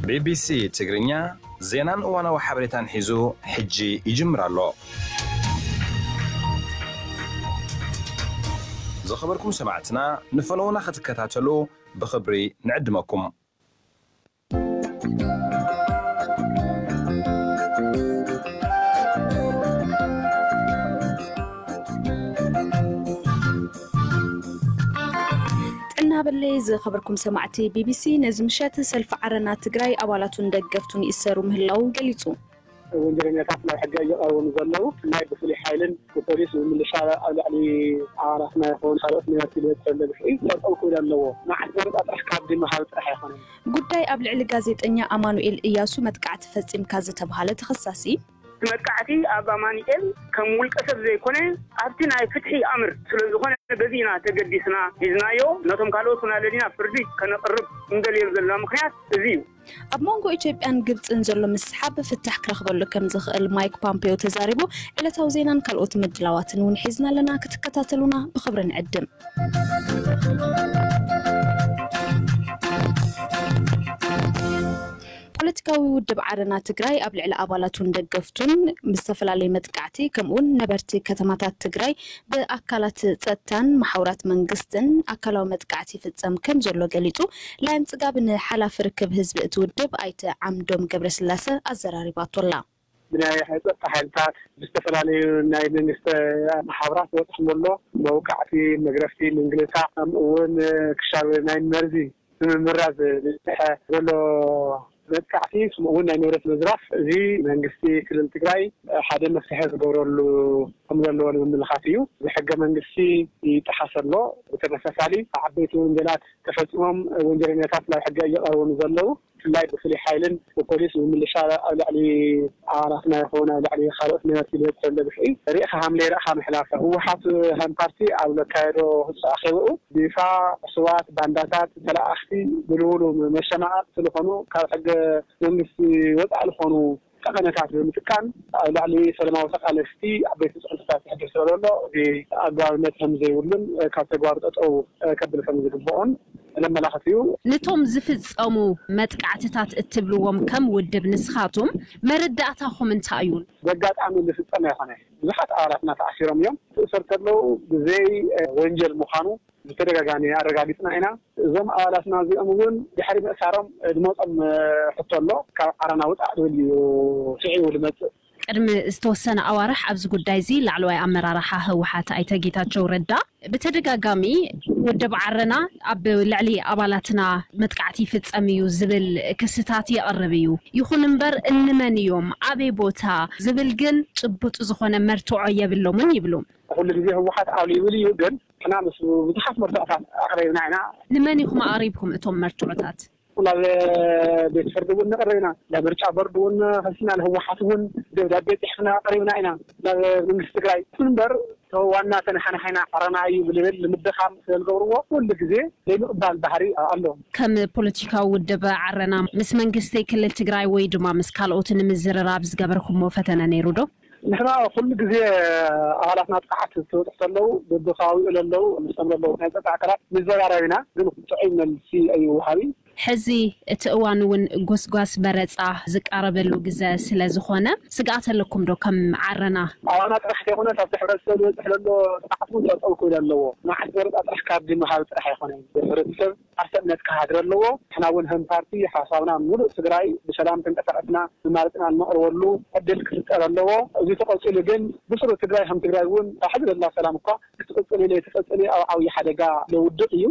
ቢቢሲ ትግርኛ ዜናን እዋናዊ ሓበሬታን ሒዙ ሕጂ ይጅምር ኣሎ። ዝኸበርኩም ሰማዕትና፣ ንፈነውና ክትከታተሉ ብኽብሪ ንዕድመኩም። ጥዕና በለይ ዝኸበርኩም ሰማዕቲ ቢቢሲ፣ ነዚ ምሸት ሰልፊ ዓረና ትግራይ ኣባላቱን ደገፍቱን ይእሰሩ ምህላው ገሊጹ። ወንጀለኛታት ናብ ሕጊ እየቐረቡ ዘለዉ። ብፍላይ ብፍሉይ ሓይልን ብፖሊስ ብምልሻ ኣብ ልዕሊ ኣባላትና ይኹን ካልኦት ነበርቲ ዝበፅሐ ግፍዒ ጠጠው ክብል ኣለዎ። መዓት መረፃ ጥራሕ ካብ ድምሃብ ጥራሕ ኣይኮነን። ጉዳይ ኣብ ልዕሊ ጋዜጠኛ ኣማኑኤል እያሱ መጥቃዕቲ ፈጺምካ ዝተብሃለ ተኸሳሲ፣ እቲ መጥቃዕቲ ኣብ ኣማኑኤል ከም ውልቀ ሰብ ዘይኮነ ኣብቲ ናይ ፍትሒ ኣምር ስለ ዝኾነ በዚ ኢና ተገዲስና ሒዝናዮ። ነቶም ካልኦት እውን ኣለሊና ፍርዲ ከነቕርብ እንደልዮም ዘለና ምኽንያት እዚ እዩ። ኣብ መንጎ ኢትዮጵያን ግብጽን ዘሎ ምስሓብ ፍታሕ ክረኽበሉ ከም ዝኽእል ማይክ ፖምፔዮ ተዛሪቡ። ዕለታዊ ዜናን ካልኦት ምድላዋትን እውን ሒዝና ኣለና፣ ክትከታተሉና ብኽብሪ ንዕድም። ፖለቲካዊ ውድብ ዓረና ትግራይ ኣብ ልዕሊ ኣባላቱን ደገፍቱን ብዝተፈላለየ መጥቃዕቲ ከምኡውን ነበርቲ ከተማታት ትግራይ ብኣካላት ጸጥታን መሓውራት መንግስትን ኣካላዊ መጥቃዕቲ ይፍጸም ከም ዘሎ ገሊጹ። ላይን ጽጋብ ንሓላፊ ርክብ ህዝቢ እቲ ውድብ ኣይተ ዓምዶም ገብረስላሰ ኣዘራሪባቶ ኣላ። ብናይ ጸጥታ ሓይልታት ብዝተፈላለዩ ናይ መንግስቲ መሓውራት ዝበፅሕ ዘሎ መውቃዕቲ፣ መግረፍቲ፣ ምንግልታ፣ ከምኡ እውን ክሻብ ናይ መርዚ ብምምራዝ ዝበፅሐ ዘሎ መጥቃዕቲ፣ ከምኡ እውን ናይ ንብረት ምዝራፍ፣ እዚ መንግስቲ ክልል ትግራይ ሓደ መፍትሒ ክገብረሉ ከም ዘለዎ ንምምልኻት እዩ። እዚ ሕገ መንግስቲ ይጠሓስ ኣሎ። ብተመሳሳሊ ዓበይቲ ወንጀላት ተፈፂሞም ወንጀለኛታት ናብ ሕጊ እየቐረቡ ዘለዉ። ብፍላይ ብፍሉይ ሓይልን ብፖሊስ ብምልሻ ኣብ ልዕሊ ኣባላትና ይኹን ኣብ ልዕሊ ካልኦት ነበርቲ ዝበፅሐ ዘሎ ግፍዒ ርኢኻ ሃም ለይረእኻ ምሕላፍ። ህወሓት ከም ፓርቲ ኣብ ዘካየዶ ኣኼብኡ ብይፋ ዕሱባት፣ ባንዳታት፣ ተለኣኽቲ፣ ብልውሉ መሸማቐቕቲ ዝኾኑ ካብ ሕገ መንግስቲ ወፃኢ ዝኾኑ ጠቐነታት ብምጥቃም ኣብ ልዕሊ ሰላማዊ ተቓለስቲ ዓበይቲ ፅዕንቶታት የሕድር ስለ ዘሎ፣ እዚ ኣግባብነት ከም ዘይብሉን ካብ ተግባሩ ጠጠው ከብል ከም ዝግብኦን ዘመላኽት እዩ። ነቶም ዝፍጸሙ መጥቃዕትታት እትብልዎም ከም ውድብ ንስኻትኩም መረዳእታኹም እንታይ እዩ? በጋጣሚ ዝፍጸም ኣይኮነ። ብዙሓት ኣባላትና ተኣሲሮም እዮም። ክእሰር ከለዉ ብዘይ ወንጀል ምዃኑ ብተደጋጋሚ ኣረጋጊጽና ኢና። እዞም ኣባላትና እዚኦም እውን ድሕሪ ምእሳሮም ዝመጾም ሕቶ ኣሎ። ካብ ዓረና ውጻእ ዝብል እዩ ስዒቡ ዝመጽእ። ቅድሚ ዝተወሰነ ኣዋርሕ ኣብዚ ጉዳይ እዚ ላዕለዋይ ኣመራርሓ ህወሓት ኣይተ ጌታቸው ረዳ ብተደጋጋሚ ውድብ ዓረና ኣብ ልዕሊ ኣባላትና መጥቃዕቲ ይፍጸም እዩ ዝብል ክስታት የቕርብ እዩ። ይኹን እምበር እንመን እዮም፣ ኣበይ ቦታ ዝብል ግን ጭቡጥ ዝኾነ መርትዖ የብሎምን ይብሉ። ኩሉ ግዜ ህወሓት ኣሉ ይብል እዩ፣ ግን ንሕና ምስ ብዙሓት መርትዖታት ኣቕሪብና ኢና። ንመን ኢኹም ኣቕሪብኩም እቶም መርትዖታት? ናብ ቤት ፍርዲ እውን ኣቕሪብና፣ ናብ ምርጫ ቦርድ እውን ከሲና፣ ንህወሓት እውን ደብዳቤ ጽሒፍና ኣቕሪብና ኢና። ናብ መንግስቲ ትግራይ ይኹን እምበር፣ እቶ ዋና ተነሓናሒና ዓረና እዩ ብልብል ንምድኻም ስለ ዝገብርዎ፣ ኩሉ ግዜ ዘይምቕባል ባህሪ ኣሎ። ከም ፖለቲካዊ ውድብ ዓረና ምስ መንግስቲ ክልል ትግራይ ወይ ድማ ምስ ካልኦት ንምዝርራብ ዝገበርኩሞ ፈተነ ነይሩ ዶ? ንሕና ኩሉ ግዜ ኣባላትና ጥቕዓት ክበፅሑ ከለዉ፣ በብከባቢኡ ለለዉ፣ ምስቶም ለለዉ ናይ ፀጥታ ኣካላት ንዘራረብ ኢና፣ ግን ጥዑይ መልሲ ኣይወሃብ እዩ። ሕዚ እቲ እዋን እውን ጎስጓስ መረፃ ዝቃረበሉ ግዘ ስለ ዝኾነ፣ ስግኣት ኣለኩም ዶ ከም ዓረና? ኣባና ጥራሕ ዘይኮነስ፣ ኣብቲ ሕብረተሰብ ዝበፅሕ ዘሎ ጥቕዓት እውን ጠጠው ክብል ኣለዎ። መዓት መረፃ ጥራሕ ካርዲ ምሃብ ጥራሕ ኣይኮነን። ሕብረተሰብ ዓርሰ እምነት ክሃድር ኣለዎ። ንሕና እውን ከም ፓርቲ ሓሳብና ምሉእ ትግራይ ብሰላም ተንቀሳቐስና መማረፅና እነቕርበሉ ዕድል ክፍጠር ኣለዎ። እዚ ተቐፂሉ ግን ብስሩ ትግራይ ከም ትግራይ እውን ሕዚ ዘላ ሰላም እኳ ክትቕፅል ኢለ ትቐፅል ኣብ ዓብዪ ሓደጋ ለውድቕ እዩ።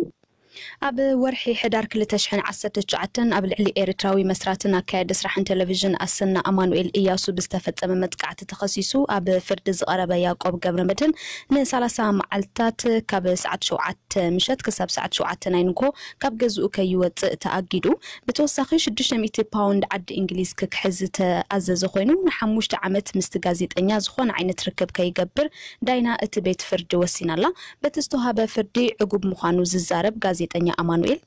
ኣብ ወርሒ ሕዳር ክልተ ሽሕን ዓሰርተ ትሽዓተን ኣብ ልዕሊ ኤርትራዊ መስራትን ኣካያዲ ስራሕን ቴሌቪዥን ኣሰና ኣማኑኤል እያሱ ብዝተፈጸመ መጥቃዕቲ ተኸሲሱ ኣብ ፍርዲ ዝቐረበ ያዕቆብ ገብረመድህን ንሰላሳ መዓልታት ካብ ሰዓት ሸውዓተ ምሸት ክሳብ ሰዓት ሸውዓተ ናይ ንግሆ ካብ ገዝኡ ከይወጽእ ተኣጊዱ። ብተወሳኺ ሽዱሽተ ሚእቲ ፓውንድ ዓዲ እንግሊዝ ክክሕዝ ዝተኣዘዘ ኮይኑ፣ ንሓሙሽተ ዓመት ምስቲ ጋዜጠኛ ዝኾነ ዓይነት ርክብ ከይገብር ዳይና እቲ ቤት ፍርዲ ወሲናላ። በቲ ዝተውሃበ ፍርዲ ዕጉብ ምዃኑ ዝዛረብ ጋዜጠኛ ኣማኑኤል፣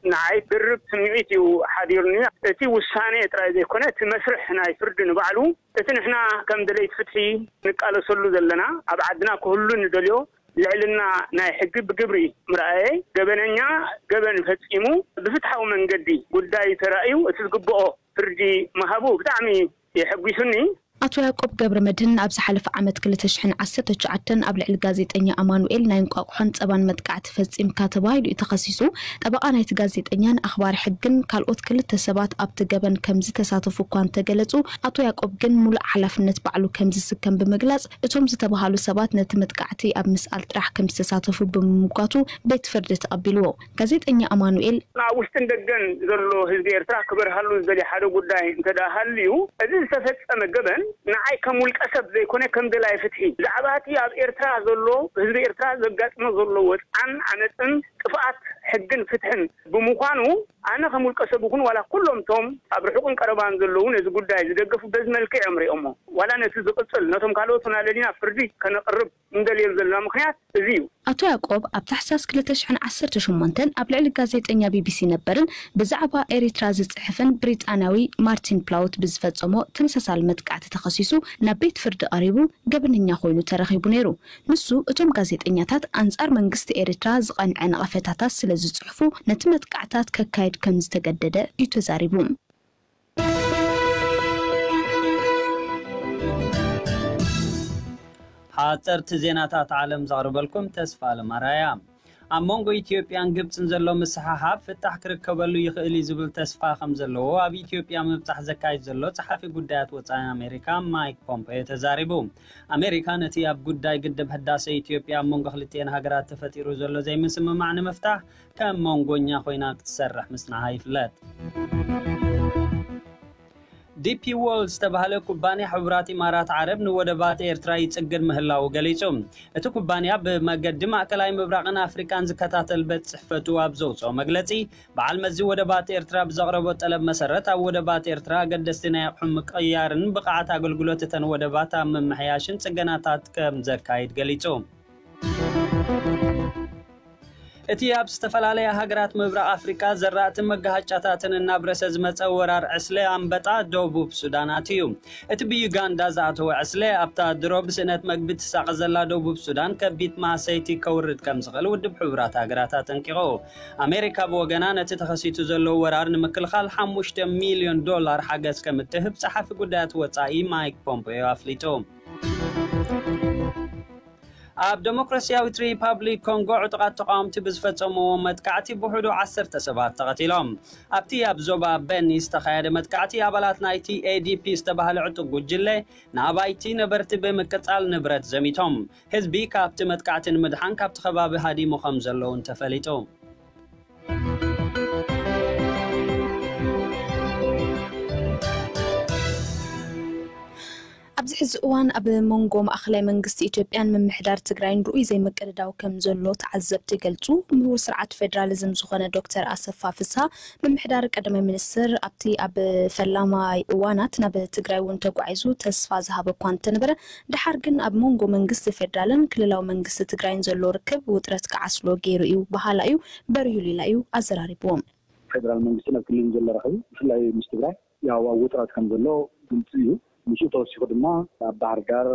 ንዓይ ድርብ ስምዒት እዩ ሓዲሩኒ። እቲ ውሳኔ ጥራይ ዘይኮነ፣ እቲ መስርሕ ናይ ፍርዲ ንባዕሉ፣ እቲ ንሕና ከም ደለይቲ ፍትሒ ንቃለሰሉ ዘለና፣ ኣብ ዓድና ክህሉ ንደልዮ ልዕልና ናይ ሕጊ ብግብሪ ምርኣየይ፣ ገበነኛ ገበን ፈጺሙ ብፍትሓዊ መንገዲ ጉዳይ ተራእዩ እቲ ዝግብኦ ፍርዲ ምሃቡ ብጣዕሚ የሐጒሱኒ። ኣቶ ያቆብ ገብረ መድህን ኣብ ዝሓለፈ ዓመት ክልተ ሽሕን ዓሰርተ ትሽዓተን ኣብ ልዕሊ ጋዜጠኛ ኣማኑኤል ናይ እንቋቑሖን ጸባን መጥቃዕቲ ፈጺምካ ተባሂሉ እዩ ተኸሲሱ። ጠበቓ ናይቲ ጋዜጠኛን ኣኽባሪ ሕግን ካልኦት ክልተ ሰባት ኣብቲ ገበን ከም ዝተሳተፉ እኳ እንተገለጹ፣ ኣቶ ያቆብ ግን ሙሉእ ሓላፍነት ባዕሉ ከም ዝስከም ብምግላጽ፣ እቶም ዝተባሃሉ ሰባት ነቲ መጥቃዕቲ ኣብ ምስኣል ጥራሕ ከም ዝተሳተፉ ብምምጓቱ ቤት ፍርዲ ተቐቢልዎ። ጋዜጠኛ ኣማኑኤል ኣብ ውሽጥን ደገን ዘሎ ህዝቢ ኤርትራ ክበርሃሉ ዝደልዮ ሓደ ጉዳይ እንተ ደኣ ሃልዩ፣ እዚ ዝተፈጸመ ገበን ንዓይ ከም ውልቀ ሰብ ዘይኮነ ከም ደላይ ፍትሒ፣ ብዛዕባ እቲ ኣብ ኤርትራ ዘሎ፣ ህዝቢ ኤርትራ ዘጋጥሞ ዘሎ ወጽዓን ዓመጽን ጥፍኣት ሕግን ፍትሕን ብምዃኑ፣ ኣነ ከም ውልቀ ሰብ ይኹን ዋላ ኩሎም እቶም ኣብ ርሑቕን ቀረባን ዘለዉ ነዚ ጉዳይ ዝደገፉ በዚ መልክዕ እዮም ሪኦሞ። ዋላ ነቲ ዝቕጽል ነቶም ካልኦት እውን ኣለሊና ፍርዲ ከነቕርብ እንደልየሉ ዘለና ምኽንያት እዚ እዩ። ኣቶ ያቆብ ኣብ ታሕሳስ ክልተ ሽሕን ዓሰርተ ሸሞንተን ኣብ ልዕሊ ጋዜጠኛ ቢቢሲ ነበርን ብዛዕባ ኤሪትራ ዝጽሕፍን ብሪጣንያዊ ማርቲን ፕላውት ብዝፈጸሞ ተመሳሳሊ መጥቃዕቲ ተኸሲሱ ናብ ቤት ፍርዲ ቀሪቡ ገበነኛ ኮይኑ ተረኺቡ ነይሩ። ንሱ እቶም ጋዜጠኛታት ኣንጻር መንግስቲ ኤሪትራ ዝቐንዐ ነቐፈታታት ስለ ዝጽሕፉ ነቲ መጥቃዕታት ከካይድ ከም ዝተገደደ እዩ ተዛሪቡ። ሓጸርቲ ዜናታት ዓለም ዘቕርበልኩም ተስፋ ኣለማራያ። ኣብ መንጎ ኢትዮጵያን ግብጽን ዘሎ ምስሕሓብ ፍታሕ ክርከበሉ ይኽእል እዩ ዝብል ተስፋ ከም ዘለዎ ኣብ ኢትዮጵያ ምብጻሕ ዘካይድ ዘሎ ጸሓፊ ጉዳያት ወጻኢ ኣሜሪካ ማይክ ፖምፔዮ ተዛሪቡ። ኣሜሪካ ነቲ ኣብ ጉዳይ ግድብ ህዳሰ ኢትዮጵያ ኣብ መንጎ ክልቲኤን ሃገራት ተፈጢሩ ዘሎ ዘይምስምማዕ ንምፍታሕ ከም መንጎኛ ኮይና ክትሰርሕ ምጽንሓ ይፍለጥ። ዲፒ ዎርልድ ዝተባህለ ኩባንያ ሕቡራት ኢማራት ዓረብ ንወደባት ኤርትራ ይጽግን ምህላዉ ገሊጹ። እቲ ኩባንያ ብመገዲ ማእከላይ ምብራቕን ኣፍሪቃን ዝከታተል ቤት ጽሕፈቱ ኣብ ዘውጽኦ መግለጺ፣ በዓል መዚ ወደባት ኤርትራ ብዘቕረቦ ጠለብ መሰረት ኣብ ወደባት ኤርትራ ኣገደስቲ ናይ ኣቕሑ ምቅያርን ብቕዓት ኣገልግሎት እተን ወደባት ኣብ ምምሕያሽን ጽገናታት ከም ዘካይድ ገሊጹ። እቲ ኣብ ዝተፈላለያ ሃገራት ምብራቕ ኣፍሪቃ ዘራእትን መጋሃጫታትን እናብረሰ ዝመጸ ወራር ዕስለ ኣንበጣ ደቡብ ሱዳን ኣትዩ። እቲ ብዩጋንዳ ዝኣተወ ዕስለ ኣብታ ድሮ ብስእነት መግቢ ትሳቐ ዘላ ደቡብ ሱዳን ከቢድ ማህሰይቲ ከውርድ ከም ዝኽእል ውድብ ሕቡራት ሃገራት ኣጠንቂቑ። ኣሜሪካ ብወገና ነቲ ተኸሲቱ ዘሎ ወራር ንምክልኻል ሓሙሽተ ሚልዮን ዶላር ሓገዝ ከም እትህብ ጸሓፊ ጉዳያት ወጻኢ ማይክ ፖምፔዮ ኣፍሊጡ። ኣብ ደሞክራሲያዊት ሪፓብሊክ ኮንጎ ዕጡቓት ተቓወምቲ ብዝፈጸምዎ መጥቃዕቲ ብውሕዱ ዓሰርተ ሰባት ተቐቲሎም። ኣብቲ ኣብ ዞባ በኒ ዝተኻየደ መጥቃዕቲ ኣባላት ናይቲ ኤዲፒ ዝተባህለ ዕጡቕ ጉጅለ ንኣባይቲ ነበርቲ ብምቅጻል ንብረት ዘሚቶም። ህዝቢ ካብቲ መጥቃዕቲ ንምድሓን ካብቲ ከባቢ ሃዲሙ ከም ዘለውን ተፈሊጡ። ኣብዚ ሕዚ እዋን ኣብ መንጎ ማእኸላይ መንግስቲ ኢትዮጵያን ምምሕዳር ትግራይን ርኡይ ዘይምቅድዳው ከም ዘሎ ተዓዘብቲ ይገልጹ። ምሁር ስርዓት ፌዴራሊዝም ዝኾነ ዶክተር ኣሰፋ ፍስሃ፣ ምምሕዳር ቀዳማይ ሚኒስትር ኣብቲ ኣብ ፈላማይ እዋናት ናብ ትግራይ እውን ተጓዒዙ ተስፋ ዝሃበ እኳ እንተነበረ፣ ደሓር ግን ኣብ መንጎ መንግስቲ ፌዴራልን ክልላዊ መንግስቲ ትግራይን ዘሎ ርክብ ውጥረት ክዓስሎ ገይሩ እዩ በሃላ እዩ። በሪሁ ሊላ እዩ ኣዘራሪብዎም። ፌዴራል መንግስቲ ናብ ክልል ዘሎ ረኽቢ ብፍላይ ምስ ትግራይ ያው ኣብ ውጥረት ከም ዘሎ ግልፂ እዩ። ምስኡ ተወሲኹ ድማ ኣብ ባህር ዳር፣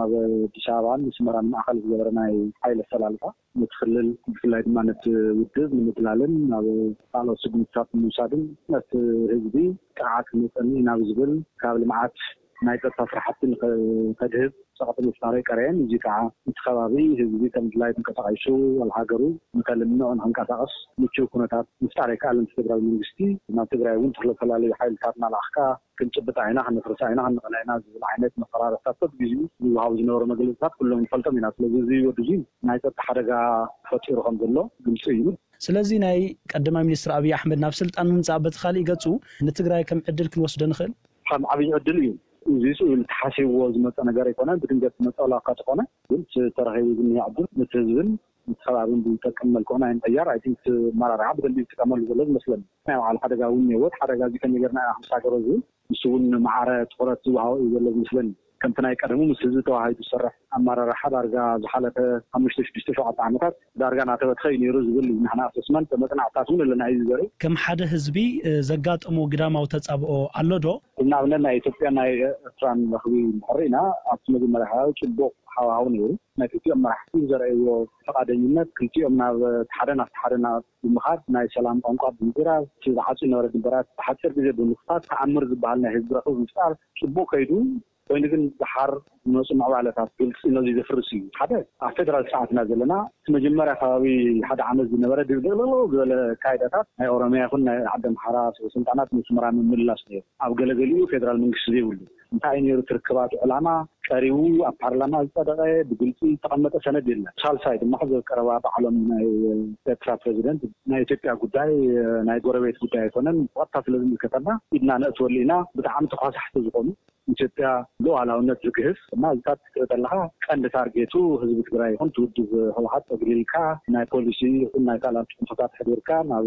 ኣብ ኣዲስ ኣበባን ኣስመራን ማእኸል ዝገበረ ናይ ሓይሊ ኣሰላልፋ ነቲ ክልል ብፍላይ ድማ ነቲ ውድብ ንምድላልን ናብ ካልኦት ስጉምትታት ንምውሳድን ነቲ ህዝቢ ጥቕዓት ክመፀኒ ናብ ዝብል ካብ ልምዓት ናይ ፀጥታ ስራሕቲ ንኸድህብ ፀቕጢ ምፍጣሩ ኣይቀረየን። እዚ ከዓ እቲ ከባቢ ህዝቢ ከም ድላዩ ተንቀሳቒሱ ኣብ ሃገሩ ንኸልምዕ ንኸንቀሳቐስ ምችው ኩነታት ምፍጣር ኣይከኣልን። እቲ ፌደራል መንግስቲ ናብ ትግራይ እውን ዝተፈላለዩ ሓይልታት እናላኣኽካ ክንጭብጣ ኢና፣ ከነፍርሳ ኢና፣ ከነቕልዓ ኢና ዝብል ዓይነት መፈራረፍታት በብግዜኡ ዝወሃቡ ዝነበሩ መግለፅታት ኩሎም ንፈልጦም ኢና። ስለዚ እዚ ወዲ እዚ ናይ ፀጥታ ሓደጋ ፈጢሩ ከም ዘሎ ግልፂ እዩ። ስለዚ ናይ ቀዳማይ ሚኒስትር ኣብይ ኣሕመድ ናብ ስልጣን ምምፃእ በቲ ካሊእ ገፁ ንትግራይ ከም ዕድል ክንወስዶ ንኽእል? ከም ዓብዪ ዕድል እዩ። እዚ ስኡ ኢሉ ተሓሲብዎ ዝመፀ ነገር ኣይኮነን። ብድንገት ዝመፀ ዋላ እኳ ተኾነ፣ ግን እቲ ተረኺቡ ዝኒሀ ዕድል ነቲ ህዝብን ነቲ ከባብን ብዝጠቅም መልክዑ ናይ ምቕያር፣ ኣይ ቲንክ፣ እቲ ኣመራርሓ ብደንቢ ይጥቀመሉ ዘሎ ዝመስለኒ። ናይ ባዕሉ ሓደጋ እውን እኒአዎ። እቲ ሓደጋ እዚ ከመይ ጌርና ኢና ክንሳገሮ ዝብል ንሱ እውን ማዕረ ትኹረት ዝወሃቦ እዩ ዘሎ ዝመስለኒ። ከምቲ ናይ ቀደሙ ምስ ህዝቢ ተዋሂዱ ዝሰርሕ ኣመራርሓ ዳርጋ ዝሓለፈ ሓሙሽተ ሽዱሽተ ሸውዓተ ዓመታት ዳርጋ እናተበትኸ እዩ ነይሩ ዝብል እዩ። ንሕና ኣሰስመንት መጽናዕትታት እውን ኣለና እዩ ዘርኢ። ከም ሓደ ህዝቢ ዘጋጠሞ ግዳማዊ ተጻብኦ ኣሎ ዶ? ንኣብነት ናይ ኢትዮጵያ ናይ ኤርትራን ረኽቢ እንድሕር ኢና ኣብቲ መጀመርያ ከባቢ ጽቡቕ ሃዋህው ነይሩ። ናይ ክልቲኦም መራሕቲ ዘርእይዎ ፈቓደኝነት ክልቲኦም ናብ ሓደ ናብቲ ሓደ ናብ ብምኻድ ናይ ሰላም ቋንቋ ብምዝራብ እቲ ዝዓፁ ነበረ ድንበራት ብሓፂር ግዜ ብምኽፋት ተኣምር ዝበሃል ናይ ህዝቢ ረኽቢ ምፍጣር ጽቡቕ ከይዱ። ኮይኑ ግን ደሓር ዝመፁ ምዕባለታት ግልፂ ነዚ ዘፍርስ እዩ። ሓደ ኣብ ፌደራል ስርዓትና ዘለና እቲ መጀመርያ ከባቢ ሓደ ዓመት ዝነበረ ድብልቕልቕ ዝበለ ኣካይዳታት ናይ ኦሮሚያ ይኹን ናይ ዓዲ ኣምሓራ ስልጣናት ንስምራ ምምላስ ነይሩ። ኣብ ገለገሊኡ ፌደራል መንግስቲ ዘይብሉ እንታይ ነይሩ ትርክባቱ ዕላማ ቀሪቡ ኣብ ፓርላማ ዝጸደቐ ብግልፂ ዝተቐመጠ ሰነድ የለን። ሳልሳይ ድማ ሕዚ ቀረባ ባዕሎም ናይ ኤርትራ ፕሬዚደንት ናይ ኢትዮጵያ ጉዳይ ናይ ጎረቤት ጉዳይ ኣይኮነን፣ ብቐጥታ ስለ ዝምልከተና ኢድና ነእትወሉ ኢና። ብጣዕሚ ተኳሳሕቲ ዝኾኑ ኢትዮጵያ ሉዓላውነት ዝግህስ እና እዚታት ክትርኢ ከለኻ ቀንዲ ታርጌቱ ህዝቢ ትግራይ ይኹን ትውድብ ህወሓት ጠግሊልካ ናይ ፖሊሲ ይኹን ናይ ካልኣት ፅንፈታት ሕዲርካ ናብ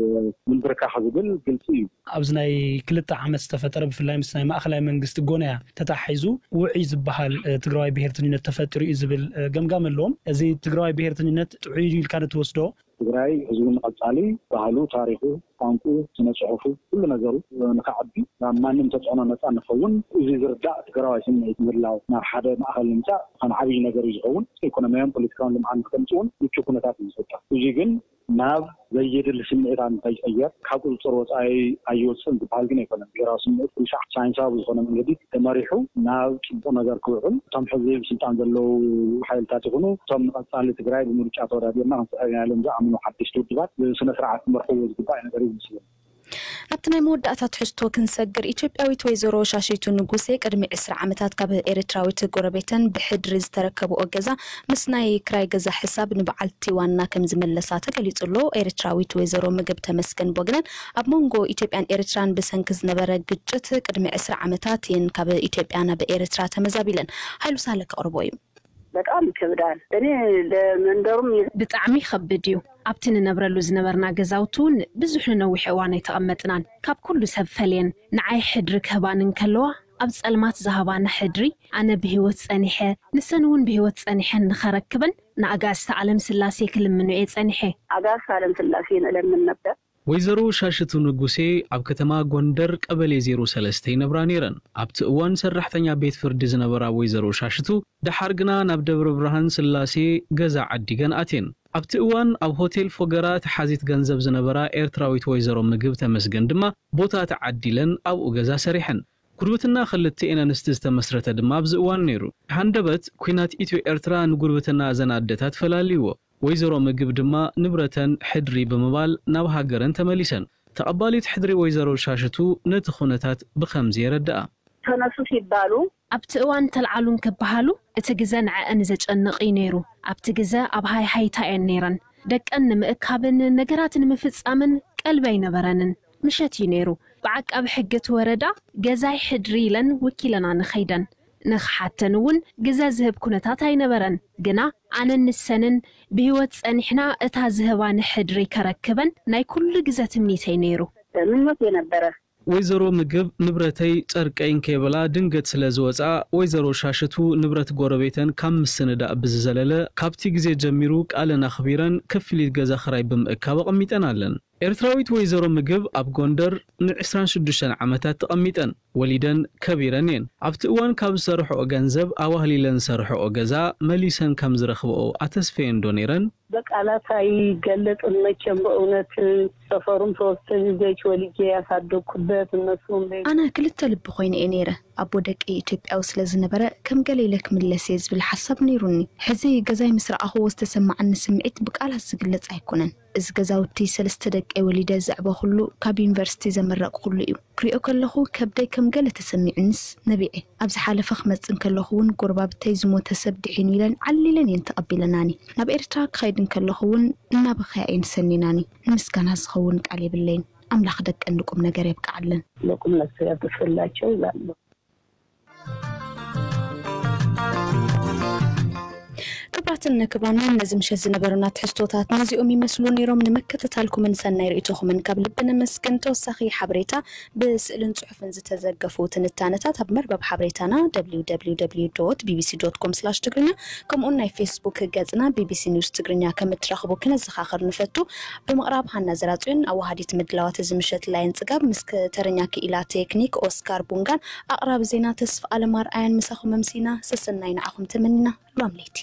ምንብርካኽ ዝብል ግልፂ እዩ። ኣብዚ ናይ ክልተ ዓመት ዝተፈጠረ ብፍላይ ምስ ናይ ማእኸላይ መንግስቲ ጎነያ ተታሒዙ ውዑይ ዝበሃል ትግራዋይ ብሄርተኝነት ተፈጢሩ እዩ ዝብል ገምጋም ኣለዎም። እዚ ትግራዋይ ብሄርተኝነት ጥዑይ እዩ ኢልካ ዶ ትወስዶ? ትግራይ ህዝቡ ንቐፃሊ ባህሉ፣ ታሪኹ፣ ቋንቁ፣ ስነ ፅሑፉ፣ ኩሉ ነገሩ ንኸዓቢ ናብ ማንም ተፅዕኖ ነፃ ንኸውን እዚ ዝርዳእ ትግራዋይ ስምዒት ምህላው ናብ ሓደ ማእኸል ንምፃእ ከም ዓብዪ ነገር እዩ ዝኸውን። ኢኮኖሚያውን ፖለቲካውን ልምዓት ንክተምፅእ እውን ምቹ ኩነታት እዩ ዝፈጥር። እዚ ግን ናብ ዘየድሊ ስምዒታት እንተይቀየር ካብ ቁፅፅር ወፃኢ ኣይወፅን ዝበሃል ግን ኣይኮነን። ብሄራዊ ስምዒት ኩሉ ሳዕ ሳይንሳዊ ብዝኾነ መንገዲ ተመሪሑ ናብ ፅቡቕ ነገር ክውዕል እቶም ሕዚ ብስልጣን ዘለዉ ሓይልታት ይኹኑ እቶም ንቐፃሊ ትግራይ ብምርጫ ተወዳዲርና ክንስዕር ኢና ኢሎም ዝኣምኑ ሓደሽቲ ውድባት ብስነ ስርዓት ክመርሕዎ ዝግባእ ነገር እዩ ዝመስለኒ። ኣብቲ ናይ መወዳእታ ትሕዝቶ ክንሰግር ኢትዮጵያዊት ወይዘሮ ሻሺቱ ንጉሴ ቅድሚ ዕስራ ዓመታት ካብ ኤርትራዊት ጎረቤተን ብሕድሪ ዝተረከብኦ ገዛ ምስ ናይ ክራይ ገዛ ሕሳብ ንበዓልቲ ዋና ከም ዝመለሳ ተገሊጹ ኣሎ። ኤርትራዊት ወይዘሮ ምግብ ተመስገን ቦግነን ኣብ መንጎ ኢትዮጵያን ኤርትራን ብሰንኪ ዝነበረ ግጭት ቅድሚ ዕስራ ዓመታት እየን ካብ ኢትዮጵያ ናብ ኤርትራ ተመዛቢለን። ሃይሉ ሳለ ከቕርቦ እዩ። በጣም ይከብዳል። እኔ ለመንደሩም ብጣዕሚ ይኸብድ እዩ። ኣብቲ ንነብረሉ ዝነበርና ገዛውቲ እውን ብዙሕ ንነዊሕ እዋን ኣይተቐመጥናን። ካብ ኩሉ ሰብ ፈልየን ንዓይ ሕድሪ ክህባን እንከለዋ ኣብ ጸልማት ዝሃባና ሕድሪ ኣነ ብህይወት ጸኒሐ ንሰን እውን ብህይወት ጸኒሐን ንኸረክበን ንኣጋእዝተ ዓለም ስላሴ ክልምኖ እየ ጸኒሐ። ኣጋእዝተ ዓለም ስላሴ ንእለምን ነበር። ወይዘሮ ሻሽቱ ንጉሴ ኣብ ከተማ ጎንደር ቀበሌ ዜሮ ሰለስተ ይነብራ ነይረን። ኣብቲ እዋን ሰራሕተኛ ቤት ፍርዲ ዝነበራ ወይዘሮ ሻሽቱ ደሓር ግና ናብ ደብረ ብርሃን ስላሴ ገዛ ዓዲገን ኣትየን። ኣብቲ እዋን ኣብ ሆቴል ፎገራ ተሓዚት ገንዘብ ዝነበራ ኤርትራዊት ወይዘሮ ምግብ ተመስገን ድማ ቦታ ተዓዲለን ኣብኡ ገዛ ሰሪሐን። ጉርብትና ክልቲኤን ኣንስቲ ዝተመስረተ ድማ ኣብዚ እዋን ነይሩ። ሃንደበት ኲናት ኢትዮ ኤርትራ ንጉርብትና እዘን ኣደታት ፈላልይዎ። ወይዘሮ ምግብ ድማ ንብረተን ሕድሪ ብምባል ናብ ሃገረን ተመሊሰን። ተቐባሊት ሕድሪ ወይዘሮ ሻሽቱ ነቲ ኩነታት ብኸምዚ የረድኣ። ተነሱ ሲባሉ ኣብቲ እዋን ተልዓሉ እንክበሃሉ እቲ ግዘ ንዐአን ዘጨንቕ እዩ ነይሩ። ኣብቲ ግዘ ኣብ ሃይሃይታ እየን ነይረን። ደቀን ንምእካብን ነገራት ንምፍጻምን ቀልቢ ኣይነበረንን። ምሸት እዩ ነይሩ። ብዓቃቢ ሕጊ እቲ ወረዳ ገዛይ ሕድሪ ኢለን ወኪለና ንኸይደን ንኽሓተን እውን ግዘ ዝህብ ኩነታት ኣይነበረን። ግና ኣነን ንሰንን ብህይወት ጸኒሕና እታ ዝህባኒ ሕድሪ ከረክበን ናይ ኩሉ ግዘ ትምኒተይ ነይሩ። ምኞት የነበረ። ወይዘሮ ምግብ ንብረተይ ጨርቀይን ከይበላ ድንገት ስለ ዝወፅኣ ወይዘሮ ሻሽቱ ንብረት ጎረቤተን ካብ ምስንዳእ ብዝዘለለ ካብቲ ግዜ ጀሚሩ ቃለን ኣኽቢረን ክፍሊት ገዛ ኽራይ ብምእካብ ኣቐሚጠን ኣለን። ኤርትራዊት ወይዘሮ ምግብ ኣብ ጎንደር ን ዕስራን ሽዱሽተን ዓመታት ተቐሚጠን ወሊደን ከቢረን እየን። ኣብቲ እዋን ካብ ዝሰርሕኦ ገንዘብ ኣዋህሊለን ዝሰርሕኦ ገዛ መሊሰን ከም ዝረኽብኦ ኣተስፈየን ዶ ነይረን? በቃላት ኣይገለጽን መቸም በእውነት ሰፈሩም ሶስተ ልጆች ወልጄ ያሳደግኩበት እነሱም ቤት ኣነ ክልተ ልቢ ኮይነ እየ ነይረ ኣቦ ደቂ ኢትዮጵያዊ ስለ ዝነበረ ከም ገለ ኢለ ክምለስ እየ ዝብል ሓሳብ ነይሩኒ ሕዚ ገዛይ ምስ ረኣኽዎ ዝተሰማዓኒ ስምዒት ብቃላት ዝግለጽ ኣይኮነን እዚ ገዛውቲ ሰለስተ ደቀይ ወሊደ ዘዕበኹሉ ካብ ዩኒቨርሲቲ ዘመረቅኹሉ እዩ ክሪኦ ከለኹ ከብደይ ከም ገለ ተሰሚዑንስ ነቢዐ ኣብ ዝሓለፈ ክመጽእ እንከለኹ እውን ጎረባብተይ ዝሞተ ሰብ ድሒኑ ኢለን ዓሊለን እየን ተቐቢለናኒ። ናብ ኤርትራ ክኸይድ እንከለኹ እውን እናበኽያ እየን ሰኒናኒ። ንምስጋና ዝኸውን ቃል የብለይን። ኣምላኽ ደቀን ንቁም ነገር የብቅዓለን። ለቁም ነገር ያብቅላቸው እላለሁ። ክቡራትን ክቡራንን፣ ነዚ ምሸት ዝነበሩና ትሕዝቶታት ነዚኦም ይመስሉ ነይሮም። ንምክትታልኩምን ሰናይ ርእይቶኹምን ካብ ልቢ ነመስግን። ተወሳኺ ሓበሬታ ብስእልን ጽሑፍን ዝተዘገፉ ትንታነታት ኣብ መርበብ ሓበሬታና www.bbc.com/ትግርኛ ከምኡውን ናይ ፌስቡክ ገጽና ቢቢሲ ኒውስ ትግርኛ ከም እትረኽቡ ክነዘኻኽር ንፈቱ። ብምቕራብ ሃና ዘራጽዮን፣ ኣዋሃዲት ምድላዋት እዚ ምሸት ላይን ጽጋብ፣ ምስ ከተረኛ ክኢላ ቴክኒክ ኦስካር ቡንጋን ኣቕራቢ ዜና ተስፋ ኣለም ኣርኣያን ምሳኹም ኣምሲና። ሰሰናይ ንዓኹም ተመኒና። ሎም ለይቲ።